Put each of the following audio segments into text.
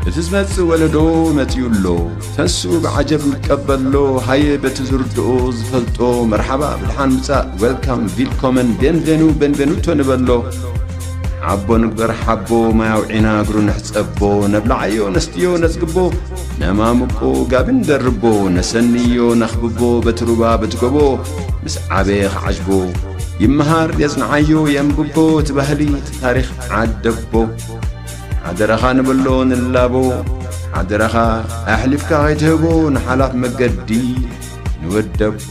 እቲ ዝመጽእ ወለዶ መጺኡ ኣሎ። ተንስኡ ብዓጀብ ንቀበሎ። ሃየ በቲ ዝርድኦ ዝፈልጦ መርሓባ ብድሓን ምጻእ፣ ዌልካም፣ ቪልኮመን፣ ቤንቬኑ፣ ቤንቬኑቶ ንበሎ። ሓቦ ንግበር ሓቦ፣ ማይ ኣውዒና እግሩ ንሕጸቦ። ነብልዓዮ ነስትዮ ነጽግቦ፣ ነማምቆ ጋቢ ንደርቦ። ነሰንዮ ነኽብቦ በቲ ሩባ በቲ ጎቦ፣ ምስ ዓበየ ክዓጅቦ። ይመሃር የጽንዓዮ የንብቦ፣ እቲ ባህሊ እቲ ታሪኽ ዓደቦ። ሓደራኻ ንበሎ ንላቦ፣ ሓደራኻ ኣሕሊፍካ ከይትህቦ ንሓላፍ መገዲ ንወደቦ።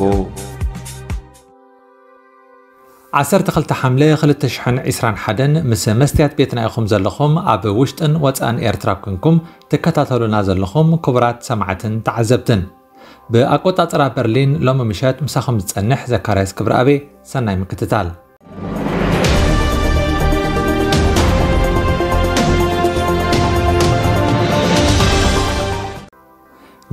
ዓሰርተ ክልተ ሓምለ ክልተ ሽሕን ዕስራን ሓደን ምስ መስትያት ቤትና ኢኹም ዘለኹም ኣብ ውሽጥን ወጻእን ኤርትራ ኮንኩም ትከታተሉና ዘለኹም ክቡራት ሰማዕትን ተዓዘብትን። ብኣቆጻጽራ በርሊን ሎሚ ምሸት ምሳኹም ዝጸንሕ ዘካርያስ ክብረኣቤ። ሰናይ ምክትታል።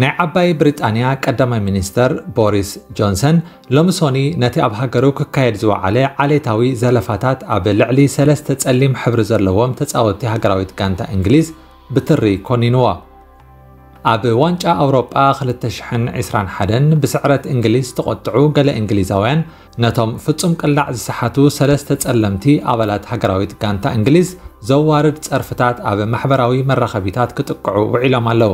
ናይ ዓባይ ብሪጣንያ ቀዳማይ ሚኒስተር ቦሪስ ጆንሰን ሎሚ ሶኒ ነቲ ኣብ ሃገሩ ክካየድ ዝወዓለ ዓሌታዊ ዘለፋታት ኣብ ልዕሊ ሰለስተ ጸሊም ሕብሪ ዘለዎም ተጻወትቲ ሃገራዊት ጋንታ እንግሊዝ ብትሪ ኮኒንዎ። ኣብ ዋንጫ ኣውሮጳ ክልተ ሽሕን ዕስራን ሓደን ብስዕረት እንግሊዝ ዝተቖጥዑ ገለ እንግሊዛውያን ነቶም ፍጹም ቅላዕ ዝሰሓቱ ሰለስተ ጸለምቲ ኣባላት ሃገራዊት ጋንታ እንግሊዝ ዘዋርድ ጸርፍታት ኣብ ማሕበራዊ መራኸቢታት ክጥቅዑ ውዒሎም ኣለዉ።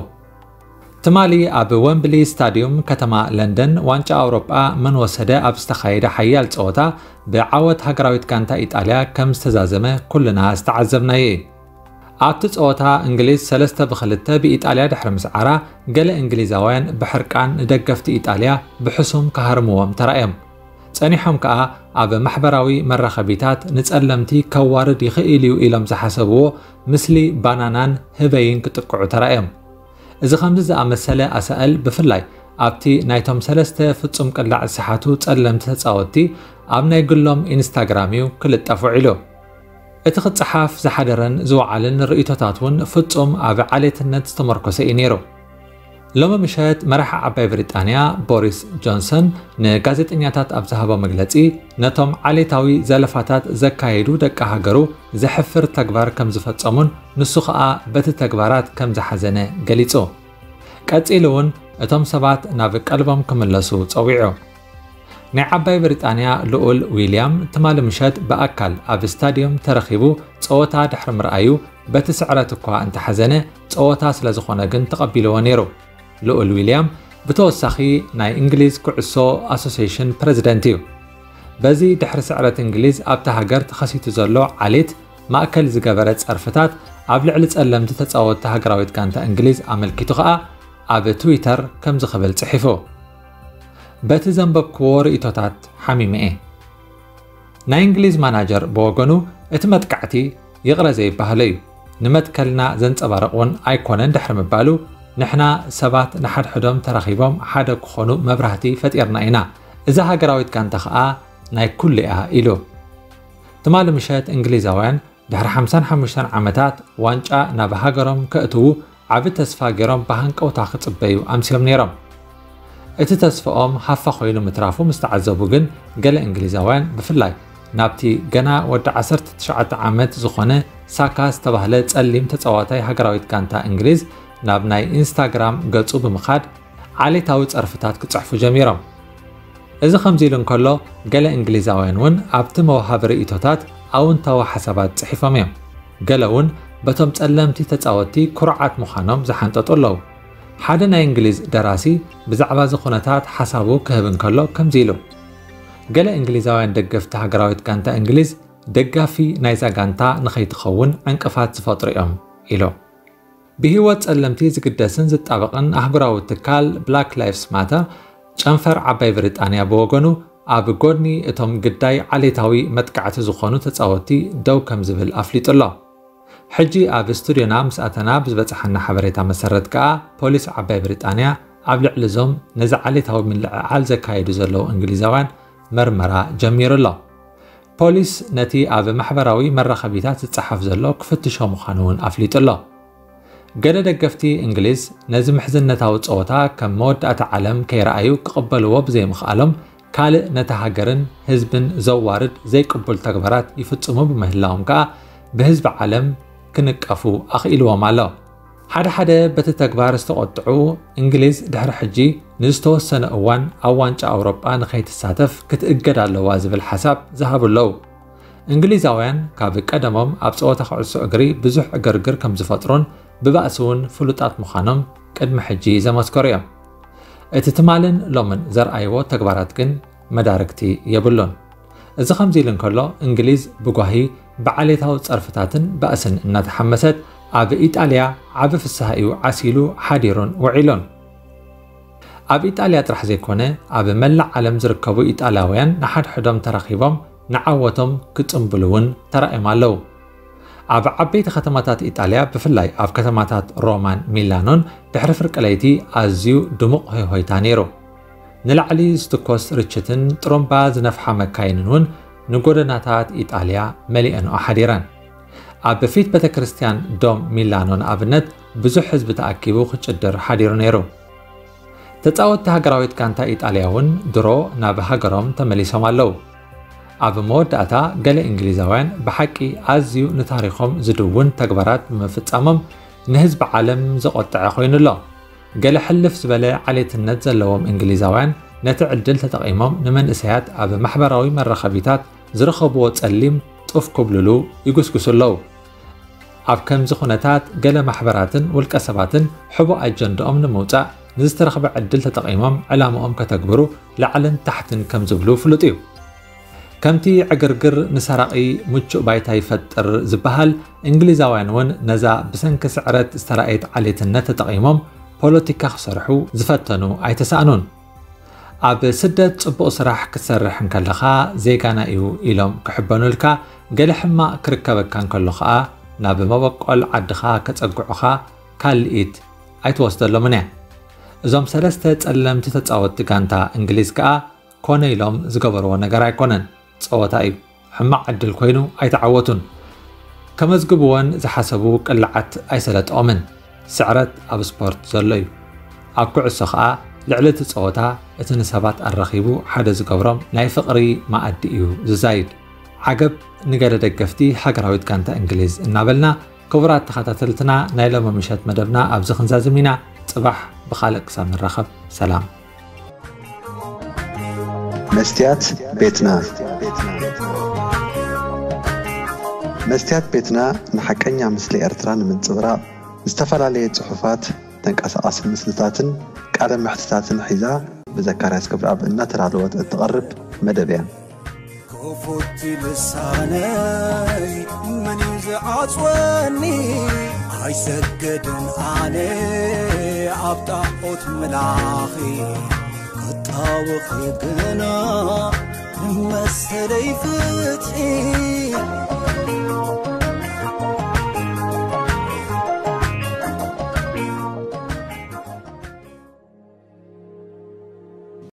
ትማሊ ኣብ ወምብሊ ስታድዩም ከተማ ለንደን ዋንጫ ኣውሮጳ መን ወሰደ ኣብ ዝተኻየደ ሓያል ጸወታ ብዓወት ሃገራዊት ጋንታ ኢጣልያ ከም ዝተዛዘመ ኩልና ዝተዓዘብናዮ እዩ። ኣብቲ ጸወታ እንግሊዝ ሰለስተ ብክልተ ብኢጣልያ ድሕሪ ምስዓራ ገለ እንግሊዛውያን ብሕርቃን ንደገፍቲ ኢጣልያ ብሕሱም ክሃርምዎም ተራእዮም። ጸኒሖም ከኣ ኣብ ማሕበራዊ መራኸቢታት ንጸለምቲ ከዋርድ ይኽእል እዩ ኢሎም ዝሓሰብዎ ምስሊ ባናናን ህበይን ክጥቅዑ ተራእዮም። እዚ ከምዚ ዝኣመሰለ ኣሳእል ብፍላይ ኣብቲ ናይቶም ሰለስተ ፍጹም ቅላዕ ዝሰሓቱ ጸለምቲ ተጻወትቲ ኣብ ናይ ግሎም ኢንስታግራም እዩ ክልጠፍ ውዒሉ። እቲ ክጸሓፍ ዝሓደረን ዝወዓልን ርእይቶታት እውን ፍጹም ኣብ ዓሌትነት ዝተመርኮሰ እዩ ነይሩ። ሎሚ ምሸት መራሒ ዓባይ ብሪጣንያ ቦሪስ ጆንሰን ንጋዜጠኛታት ኣብ ዝሃቦ መግለጺ ነቶም ዓሌታዊ ዘለፋታት ዘካየዱ ደቂ ሃገሩ ዘሕፍር ተግባር ከም ዝፈጸሙን ንሱ ኸኣ በቲ ተግባራት ከም ዝሓዘነ ገሊጹ። ቀጺሉ እውን እቶም ሰባት ናብ ቀልቦም ክምለሱ ጸዊዑ። ናይ ዓባይ ብሪጣንያ ልኡል ዊልያም ትማሊ ምሸት ብኣካል ኣብ ስታድዮም ተረኺቡ ጸወታ ድሕሪ ምርኣዩ በቲ ስዕረት እኳ እንተሓዘነ ጸወታ ስለ ዝኾነ ግን ተቐቢልዎ ነይሩ። ልኡል ዊልያም ብተወሳኺ ናይ እንግሊዝ ኩዕሶ ኣሶሲሽን ፕረዚደንት እዩ። በዚ ድሕሪ ስዕረት እንግሊዝ ኣብታ ሃገር ተኸሲቱ ዘሎ ዓሌት ማእከል ዝገበረ ጸርፍታት ኣብ ልዕሊ ጸለምቲ ተጻወትቲ ሃገራዊት ጋንታ እንግሊዝ ኣመልኪቱ ኸኣ ኣብ ትዊተር ከምዚ ክብል ጽሒፉ። በቲ ዘንበብክዎ ርእይቶታት ሓሚመ እየ። ናይ እንግሊዝ ማናጀር ብወገኑ እቲ መጥቃዕቲ ይቕረ ዘይበሃሎ እዩ፣ ንመትከልና ዘንጸባርቕ እውን ኣይኮነን ድሕሪ ምባሉ ንሕና ሰባት ንሓድሕዶም ተራኺቦም ሓደ ክኾኑ መብራህቲ ፈጢርና ኢና። እዛ ሃገራዊት ጋንታ ኸኣ ናይ ኩሉ እያ ኢሉ። ትማሊ ምሸት እንግሊዛውያን ድሕሪ ሓምሳን ሓሙሽተን ዓመታት ዋንጫ ናብ ሃገሮም ከእትዉ ዓቢ ተስፋ ገይሮም ብሃንቀውታ ክጽበዩ ኣምስዮም ነይሮም። እቲ ተስፋኦም ሃፋ ኮይኑ ምትራፉ ምስ ተዓዘቡ ግን ገለ እንግሊዛውያን ብፍላይ ናብቲ ገና ወዲ ዓሰርተ ትሽዓተ ዓመት ዝኾነ ሳካ ዝተባህለ ጸሊም ተጻዋታይ ሃገራዊት ጋንታ እንግሊዝ ናብ ናይ ኢንስታግራም ገጹ ብምኻድ ዓሌታዊ ጸርፍታት ክጽሕፉ ጀሚሮም። እዚ ከምዚ ኢሉ እንከሎ ገለ እንግሊዛውያን እውን ኣብቲ መውሃቢ ርእይቶታት ኣውንታዊ ሓሳባት ጽሒፎም እዮም። ገለ እውን በቶም ጸለምቲ ተጻወትቲ ኩርዓት ምዃኖም ዝሓንጠጡ ኣለዉ። ሓደ ናይ እንግሊዝ ደራሲ ብዛዕባ እዚ ኩነታት ሓሳቡ ክህብ እንከሎ ከምዚ ኢሉ፣ ገለ እንግሊዛውያን ደገፍቲ ሃገራዊት ጋንታ እንግሊዝ ደጋፊ ናይዛ ጋንታ ንኸይትኸውን ዕንቅፋት ዝፈጥሩ እዮም ኢሉ። ብህይወት ጸለምቲ ዝግደስን ዝጣበቕን ኣህጉራዊ ትካል ብላክ ላይፍስ ማተር ጨንፈር ዓባይ ብሪጣንያ ብወገኑ ኣብ ጎድኒ እቶም ግዳይ ዓሌታዊ መጥቃዕቲ ዝኾኑ ተጻወትቲ ደው ከም ዝብል ኣፍሊጡ ኣሎ። ሕጂ ኣብ ስቱድዮና ምስ ኣተና ብዝበጽሓና ሓበሬታ መሰረት ከኣ ፖሊስ ዓባይ ብሪጣንያ ኣብ ልዕሊ እዞም ነዚ ዓሌታዊ ምልዕዓል ዘካየዱ ዘለዉ እንግሊዛውያን መርመራ ጀሚሩ ኣሎ። ፖሊስ ነቲ ኣብ ማሕበራዊ መራኸቢታት ዝጸሓፍ ዘሎ ክፍትሾ ምዃኑ እውን ኣፍሊጡ ኣሎ። ገለ ደገፍቲ እንግሊዝ ነዚ ምሕዝነታዊ ጸወታ ከም መወዳእታ ዓለም ከይረኣዩ ክቕበልዎ ብዘይምኽኣሎም ካልእ ነታ ሃገርን ህዝብን ዘዋርድ ዘይቅቡል ተግባራት ይፍጽሙ ብምህላዎም ከኣ ብህዝቢ ዓለም ክንቀፉ ኣኽኢልዎም ኣሎ። ሓደ ሓደ በቲ ተግባር ዝተቖጥዑ፣ እንግሊዝ ድሕሪ ሕጂ ንዝተወሰነ እዋን ኣብ ዋንጫ ኣውሮጳ ንኸይትሳተፍ ክትእገድ ኣለዋ ዝብል ሓሳብ ዝሃቡ ኣለዉ። እንግሊዛውያን ካብ ቀደሞም ኣብ ጸወታ ኩዕሶ እግሪ ብዙሕ ዕግርግር ከም ዝፈጥሩን ብባእሲ እውን ፍሉጣት ምዃኖም ቅድሚ ሕጂ ዘመስከሩ እዮም። እቲ ትማልን ሎምን ዘርኣይዎ ተግባራት ግን መዳርግቲ የብሉን። እዚ ከምዚ ኢሉ እንከሎ፣ እንግሊዝ ብጓሂ ብዓሌታዊ ጸርፍታትን ባእስን እናተሓመሰት ኣብ ኢጣልያ ዓቢ ፍስሃ እዩ ዓሲሉ ሓዲሩን ውዒሉን። ኣብ ኢጣልያ ጥራሕ ዘይኮነ፣ ኣብ መላእ ዓለም ዝርከቡ ኢጣልያውያን ንሓድሕዶም ተራኺቦም ንዓወቶም ክጽምብሉ እውን ተራእዮም ኣለዉ። ኣብ ዓበይቲ ከተማታት ኢጣልያ፣ ብፍላይ ኣብ ከተማታት ሮማን ሚላኖን፣ ድሕሪ ፍርቂ ለይቲ ኣዝዩ ድሙቕ ሆይሆይታ ነይሩ። ንላዕሊ ዝትኮስ ርችትን ጥሩምባ ዝነፍሓ መካይንን እውን ንጎደናታት ኢጣልያ መሊአንኦ ሓዲረን። ኣብ ፊት ቤተ ክርስቲያን ዶም ሚላኖ ንኣብነት ብዙሕ ህዝቢ ተኣኪቡ ክጭድር ሓዲሩ ነይሩ። ተጻወትቲ ሃገራዊት ጋንታ ኢጣልያ እውን ድሮ ናብ ሃገሮም ተመሊሶም ኣለዉ። ኣብ መወዳእታ ገለ እንግሊዛውያን ብሓቂ ኣዝዩ ንታሪኾም ዝድውን ተግባራት ብምፍጻሞም ንህዝቢ ዓለም ዘቖጠዐ ኮይኑ ኣሎ። ገለ ሕልፍ ዝበለ ዓሌትነት ዘለዎም እንግሊዛውያን ነቲ ዕድል ተጠቒሞም ንመንእሰያት ኣብ ማሕበራዊ መራኸቢታት ዝረኸብዎ ጸሊም ጡፍ ክብልሉ ይጉስጉሱ ኣለዉ። ኣብ ከምዚ ኩነታት ገለ ማሕበራትን ውልቀ ሰባትን ሕቡእ ኣጀንድኦም ንምውጻእ ንዝተረኽበ ዕድል ተጠቒሞም ዕላምኦም ከተግብሩ ላዕልን ታሕትን ከም ዝብሉ ፍሉጥ እዩ። ከምቲ ዕግርግር ንሰራቒ ምቹእ ባይታ ይፈጥር ዝበሃል፣ እንግሊዛውያን እውን ነዛ ብሰንኪ ስዕረት ዝተራእየት ዓሌትነት ተጠቒሞም ፖለቲካ ክሰርሑ ዝፈተኑ ኣይተሳእኑን። ኣብ ስደት ጽቡቕ ስራሕ ክትሰርሕ እንከለኻ ዜጋና እዩ ኢሎም ክሕበኑልካ፣ ገለ ሕማቕ ክርከበካ እንከሎ ኸኣ ናብ መበቆል ዓድኻ ከጸግዑኻ ካልኢት ኣይትወስደሎምን እያ። እዞም ሰለስተ ጸለምቲ ተጻወትቲ ጋንታ እንግሊዝ ከኣ ኮነ ኢሎም ዝገበርዎ ነገር ኣይኮነን። ጸወታ እዩ። ሕማቕ ዕድል ኮይኑ ኣይተዓወቱን። ከመዝግብወን ዝሓሰቡ ቅልዓት ኣይሰለጠኦምን። ስዕረት ኣብ ስፖርት ዘሎ እዩ። ኣብ ኩዕሶ ኸኣ ልዕሊ እቲ ጸወታ እቲ ንሰባት ኣራኺቡ ሓደ ዝገብሮም ናይ ፍቕሪ መኣዲ እዩ ዝዛይድ። ዓገብ ንገለ ደገፍቲ ሃገራዊት ጋንታ እንግሊዝ እናበልና፣ ክቡራት ተኸታተልትና፣ ናይ ሎሚ ምሸት መደብና ኣብዚ ክንዛዝም ኢና። ጽባሕ ብኻልእ ክሳብ ንራኸብ፣ ሰላም። መስትያት ቤትና። መስትያት ቤትና ንሓቀኛ ምስሊ ኤርትራ ንምንጽብራቕ ዝተፈላለየ ጽሑፋት፣ ተንቀሳቓሲ ምስልታትን ቃለ መሕትታትን ሒዛ ብዘካርያስ ገብረኣብ እናተዳለወት እትቐርብ መደብ እያ። ክፉት ልሳነይ መን እዩ ዝዓጽወኒ? ኣይሰገድን ኣነ ኣብ ጣዖት ምላኺ ክጣወኺ ግና መሰለይ ፍትሒ።